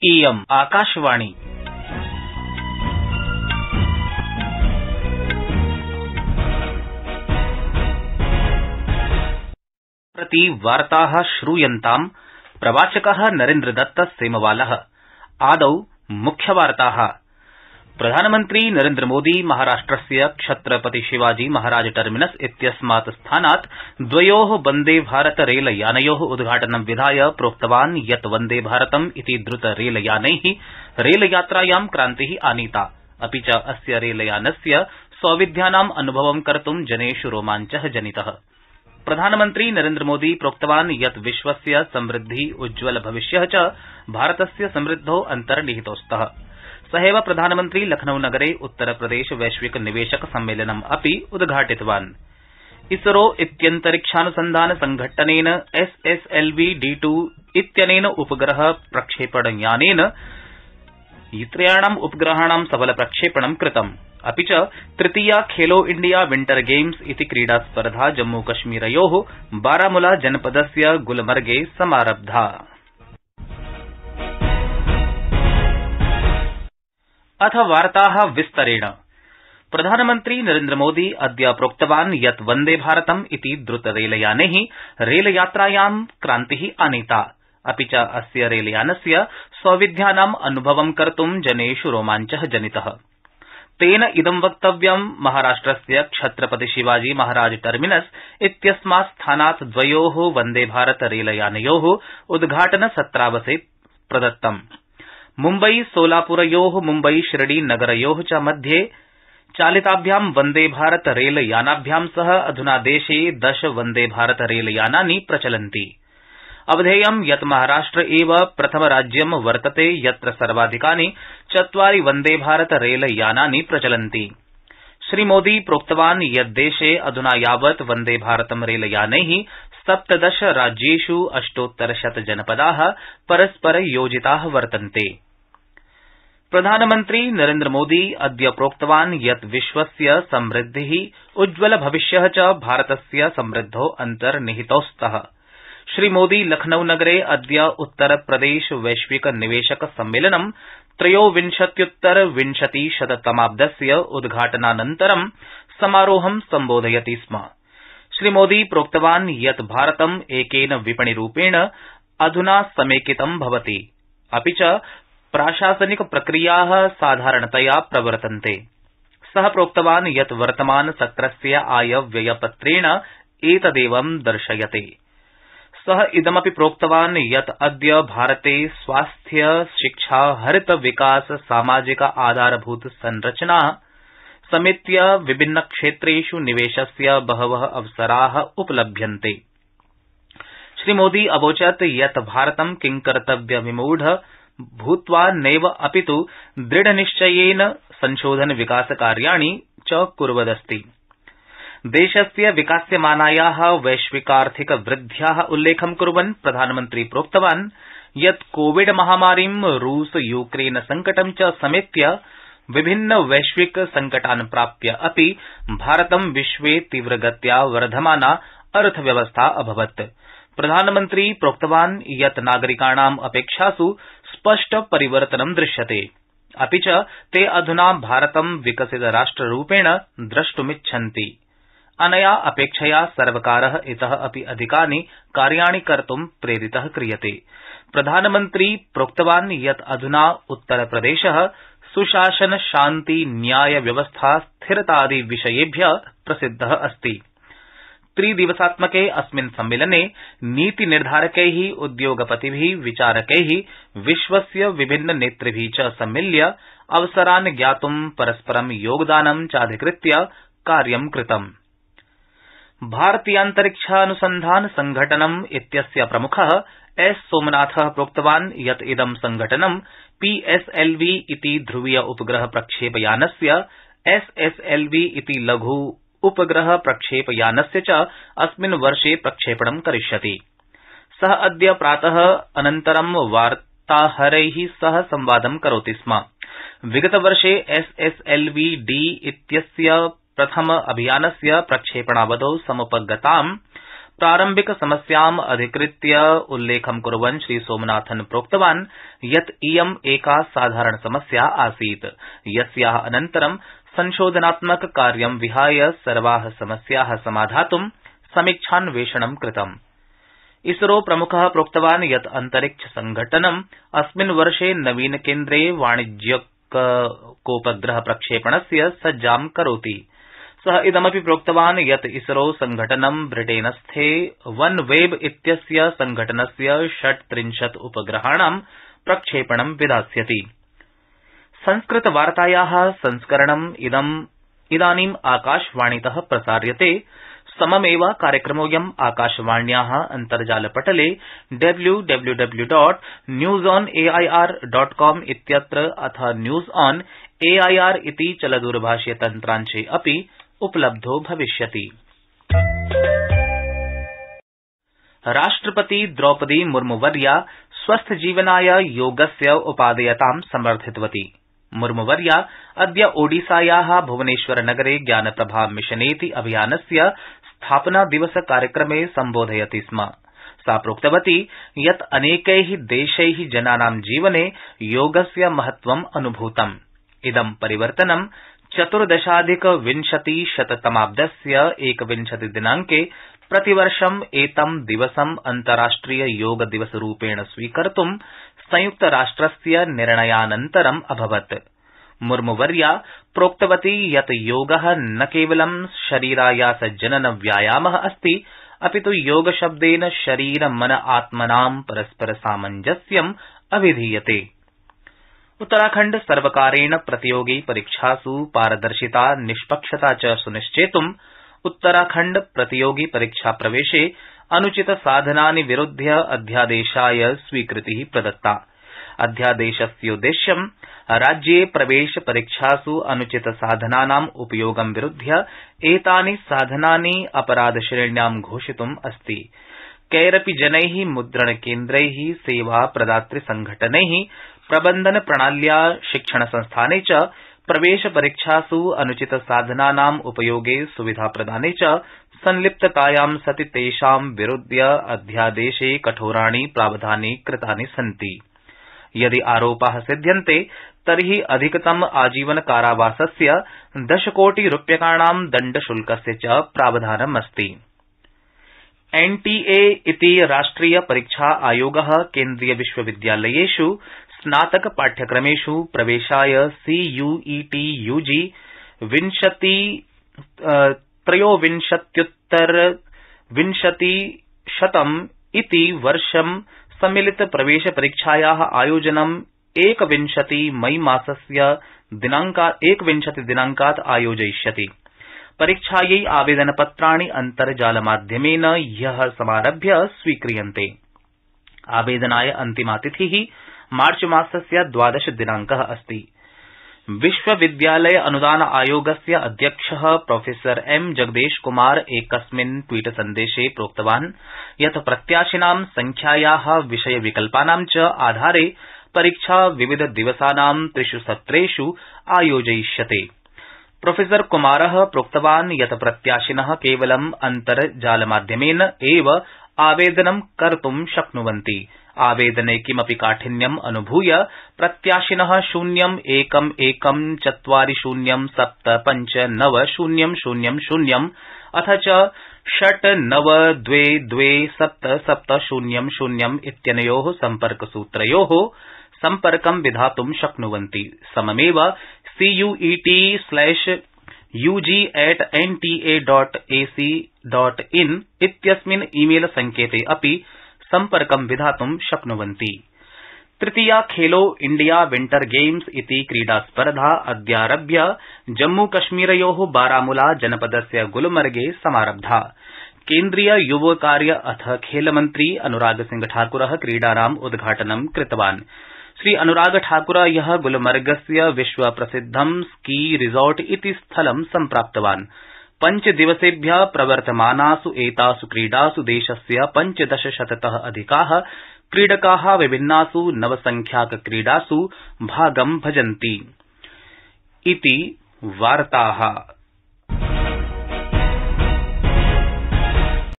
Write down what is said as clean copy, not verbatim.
इयम् आकाशवाणी। प्रति वार्ताः श्रूयन्ताम् प्रवाचकः नरेन्द्रदत्त सेमवालः। आदौ मुख्यवार्ताः। प्रधानमन्त्री नरेन्द्रमोदी महाराष्ट्रस्य छत्रपति शिवाजी महाराज टर्मिनस इत्यस्मात् स्थानात् द्वयोः वन्दे भारत रेलयानयोः उद्घाटनं विधाय प्रोक्तवान् यत् वन्दे भारतम् इति द्रुत रेलयानैः रेलयात्रायां क्रान्तिः आनीता, अपि च अस्य रेलयानस्य सौविध्यानाम् अनुभवं कर्तुं जनेष् रोमाञ्चः जनितः। प्रधानमन्त्री नरेन्द्रमोदी प्रोक्तवान् यत् विश्वस्य समृद्धि उज्ज्वल भविष्यः च भारतस्य समृद्धौ अन्तर्निहितौ स्तः। सहैव प्रधानमन्त्री लखनऊ नगरे उत्तरप्रदेश वैश्विक निवेशक सम्मेलनम् अपि उद्घाटितवान्। इसरो इत्यन्तरिक्षानुसन्धान संघट्टनेन SSLV-D2 इत्यनेन उपग्रह प्रक्षेपणयानेन त्रयाणाम् उपग्रहाणां सफल प्रक्षेपणं कृतम्। अपि च तृतीया खेलो इंडिया विंटर गेम्स इति क्रीडास्पर्धा जम्मूकश्मीरयोः बारामुला जनपदस्य गुलमर्गे समारब्धा। अथ वार्ताः विस्तरेण। प्रधानमन्त्री नरेन्द्रमोदी अद्य प्रोक्तवान् यत् वन्दे भारतम् इति द्रुत रेलयानैः रेलयात्रायां क्रान्तिः आनीता, अपि च अस्य रेलयानस्य सौविध्यानाम् अनुभवं कर्तुं जनेष् रोमाञ्चः जनितः। तेन इदं वक्तव्यं महाराष्ट्रस्य छत्रपति शिवाजी महाराज टर्मिनस इत्यस्मात् स्थानात् द्वयोः वन्दे भारत रेलयानयोः उद्घाटन सत्रावसरे प्रदत्तम्। मुम्बई सोलापुरयोः मुम्बई शिरडी नगरयोः च मध्ये चालिताभ्यां वन्दे भारत रेलयानाभ्यां सह अधुना देशे 10 वन्दे भारत रेलयानानि प्रचलन्ति। अवधेयं यत् महाराष्ट्र एव प्रथम राज्यं वर्तते यत्र सर्वाधिकानि 4 वन्दे भारत रेलयानानि प्रचलन्ति। श्रीमोदी प्रोक्तवान् यत् देशे अधुना यावत् वन्दे भारतं रेलयानैः 17 राज्येष् 800 जनपदाः परस्पर योजिताः वर्तन्ते। प्रधानमन्त्री नरेन्द्रमोदी अद्य प्रोक्तवान् यत् विश्वस्य समृद्धिः उज्ज्वल भविष्यः च भारतस्य समृद्धौ अन्तर्निहितौ स्तः। श्रीमोदी लखनऊ नगरे अद्य उत्तरप्रदेश वैश्विक निवेशक सम्मेलनं 23-उत्तर-20-शततमाब्दस्य उद्घाटनानन्तरं समारोहं सम्बोधयति स्म। श्रीमोदी प्रोक्तवान् यत् भारतम् एकेन विपणिरूपेण अधुना समेकितं भवति, अपि च प्राशासनिक प्रक्रियाः साधारणतया प्रवर्तन्ते। सः प्रोक्तवान् यत् वर्तमान सत्रस्य आय व्ययपत्रेण एतदेवं दर्शयते। सः इदमपि प्रोक्तवान् यत् अद्य भारते स्वास्थ्य, शिक्षा, हरित विकास, सामाजिक आधारभूत संरचना समेत्य विभिन्न क्षेत्रेष् निवेशस्य बहवः अवसराः उपलभ्यन्ते। श्रीमोदी अवोचत् यत् भारतं किंकर्तव्यविमूढ भूत्वा नैव अपितु दृढनिश्चयेन संशोधन विकासकार्याणि च कुर्वदस्ति। देशस्य विकास्यमानायाः वैश्विकार्थिक वृद्ध्याः उल्लेखं कुर्वन् प्रधानमन्त्री प्रोक्तवान् यत् कोविड महामारीं, रूस यूक्रेन संकटं च समेत्य विभिन्न वैश्विक संकटान् प्राप्य अपि भारतं विश्वे तीव्रगत्या वर्धमाना अर्थव्यवस्था अभवत्। प्रधानमन्त्री प्रोक्तवान् यत् नागरिकाणाम् अपेक्षासु स्पष्ट परिवर्तनं दृश्यते, अपि च ते अधुना भारतं विकसित राष्ट्ररूपेण द्रष्टुमिच्छन्ति। अनया अपेक्षया सर्वकारः इतः अपि अधिकानि कार्याणि कर्तुं प्रेरितः क्रियते। प्रधानमन्त्री प्रोक्तवान् यत् अधुना उत्तरप्रदेशः सुशासन, शान्ति, न्याय व्यवस्था, स्थिरतादि विषयेभ्यः प्रसिद्धः अस्ति। 3 दिवसात्मके अस्मिन् सम्मेलने नीतिनिर्धारकैः, उद्योगपतिभिः, विचारकैः, विश्वस्य विभिन्न नेतृभिः च सम्मिल्य अवसरान् ज्ञातुं परस्परं योगदानं चाधिकृत्य कार्यं कृतम्। भारतीयान्तरिक्षानुसन्धान संघटनम् इत्यस्य प्रमुखः एस सोमनाथः प्रोक्तवान् यत् इदं संघटनं PSLV इति ध्रुवीय उपग्रह प्रक्षेपयानस्य, SSLV इति लघु उपग्रह प्रक्षेपयानस्य च अस्मिन् वर्षे प्रक्षेपणं करिष्यति। सः अद्य प्रातः अनन्तरं वार्ताहरैः सह संवादं करोति स्म। विगतवर्षे SSLV-D इत्यस्य प्रथम अभियानस्य प्रक्षेपणावधौ समुपगतां प्रारम्भिक समस्याम् अधिकृत्य उल्लेखं कुर्वन् श्रीसोमनाथन् प्रोक्तवान् यत् इयम् एका साधारण समस्या आसीत् यस्याः अनन्तरं संशोधनात्मक कार्यं विहाय सर्वाः समस्याः समाधातुं समीक्षान्वेषणं कृतम्। इसरो प्रमुखः प्रोक्तवान् यत् अंतरिक्ष संघटनम् अस्मिन् वर्षे नवीन केन्द्रे वाणिज्यिकोपग्रह प्रक्षेपणस्य सज्जां करोति। सः इदमपि प्रोक्तवान् यत् इसरो संघटनं ब्रिटेनस्थे वन वेब इत्यस्य संघटनस्य 36 उपग्रहाणां प्रक्षेपणं विधास्यति। संस्कृतवार्तायाः संस्करणम् इदानीम् आकाशवाणीतः प्रसार्यते। सममेव कार्यक्रमोऽयम् आकाशवाण्याः अन्तर्जालपटले www.newsonair.com इत्यत्र अथ न्यूज ऑन एआईआर इति चलदूरभाषीय तन्त्रांशे अपि उपलब्धो भविष्यति। राष्ट्रपति द्रौपदी मुर्मुवर्या स्वस्थजीवनाय योगस्य उपादेयतां समर्थितवती। मुर्मुवर्या अद्य ओडिसायाः भुवनेश्वरनगरे ज्ञानप्रभा मिशनेति अभियानस्य स्थापना दिवस कार्यक्रमे सम्बोधयति स्म। सा प्रोक्तवती यत् अनेकैः देशैः जनानां जीवने योगस्य महत्वम् अनुभूतम्। इदं परिवर्तनं 14,20-शततमाब्दस्य 21 दिनांके प्रतिवर्षम् एतं दिवसम् अन्ताराष्ट्रिय योग दिवसरूपेण स्वीकर्तुं संयुक्तराष्ट्रस्य निर्णयानन्तरम् अभवत्। मुर्मुवर्या प्रोक्तवती यत् योगः न केवलं शरीरायासजनन व्यायामः अस्ति अपितु योगशब्देन शरीर मन आत्मनां परस्पर सामञ्जस्यम् अभिधीयते। उत्तराखण्ड सर्वकारेण प्रतियोगी परीक्षासु पारदर्शिता निष्पक्षता च सुनिश्चेतुं उत्तराखण्ड प्रतियोगी परीक्षा प्रवेशे अनुचित साधनानि विरुध्य अध्यादेशाय स्वीकृतिः प्रदत्ता। अध्यादेशस्योद्देश्यं राज्ये प्रवेश परीक्षासु अनुचित साधनानाम् उपयोगं विरुध्य एतानि साधनानि अपराधश्रेण्यां घोषितुम् अस्ति। कैरपि जनैः मुद्रणकेन्द्रैः सेवा प्रदातृ संघटनैः प्रबन्धन प्रणाल्या शिक्षणसंस्थाने च प्रवेश परीक्षासु अनुचित साधनानाम् उपयोगे सुविधा प्रदाने च संलिप्ततायां सति तेषां विरुध्य अध्यादेशे कठोराणि प्रावधानानि कृतानि सन्ति। यदि आरोपाः सिध्यन्ते तर्हि अधिकतम आजीवन कारावासस्य 10 कोटि रूप्यकाणां दण्डशुल्कस्य च प्रावधानमस्ति। एनटीए इति राष्ट्रिय परीक्षा आयोगः केन्द्रीय विश्वविद्यालयेषु स्नातक पाठ्यक्रमेषु प्रवेशाय सीयूईटी यूजी 23-उत्तर-20 इति वर्षं सम्मिलित प्रवेश परीक्षायाः आयोजनं 21 मई मासस्य 21 दिनांकात् आयोजयिष्यति। परीक्षायै आवेदनपत्राणि अन्तर्जालमाध्यमेन ह्यः समारभ्य स्वीक्रियन्ते। आवेदनाय अन्तिमा तिथिः मार्च मासस्य 12 दिनांकः अस्ति। विश्वविद्यालय अनुदान आयोगस्य अध्यक्षः प्रोफेसर एम जगदेश कुमार एकस्मिन् ट्वीट सन्देशे प्रोक्तवान् यत् प्रत्याशिनां संख्यायाः विषय विकल्पानां च आधारे परीक्षा विविध दिवसानां 3 सत्रेषु आयोजयिष्यते। प्रोफेसर कुमारः प्रोक्तवान् यत् प्रत्याशिनः केवलं अन्तर्जालमाध्यमेन एव आवेदनं कर्तुं शक्नुवन्ति। आवेदने किमपि काठिन्यम् अनुभूय प्रत्याशिनः 0114075900 अथ च 69227770 इत्यनयोः सम्पर्कसूत्रयोः सम्पर्कं विधातुं शक्नुवन्ति। सममेव CUET/UG@nta.ac.in इत्यस्मिन् ईमेल संकेते अपि सम्पर्कं विधातुं शक्नुवन्ति। तृतीया खेलो इंडिया विंटर गेम्स इति क्रीडास्पर्धा अद्यारभ्य जम्मूकश्मीरयोः बारामूला जनपदस्य गुलमर्गे समारब्धा। केन्द्रीय युवकार्य अथ खेलमन्त्री अनुरागसिंह ठाकुरः क्रीडानाम् उद्घाटनं कृतवान्। श्री अनुराग ठाकुर ह्यः गुलमर्गस्य विश्वप्रसिद्धं स्की रिसोर्ट इति स्थलं सम्प्राप्तवान्। 5 दिवसेभ्यः प्रवर्तमानासु एतासु क्रीडासु देशस्य 1500तः अधिकाः क्रीडकाः विभिन्नासु नवसंख्याकक्रीडासु भागं भजन्ति। इति वार्ताः।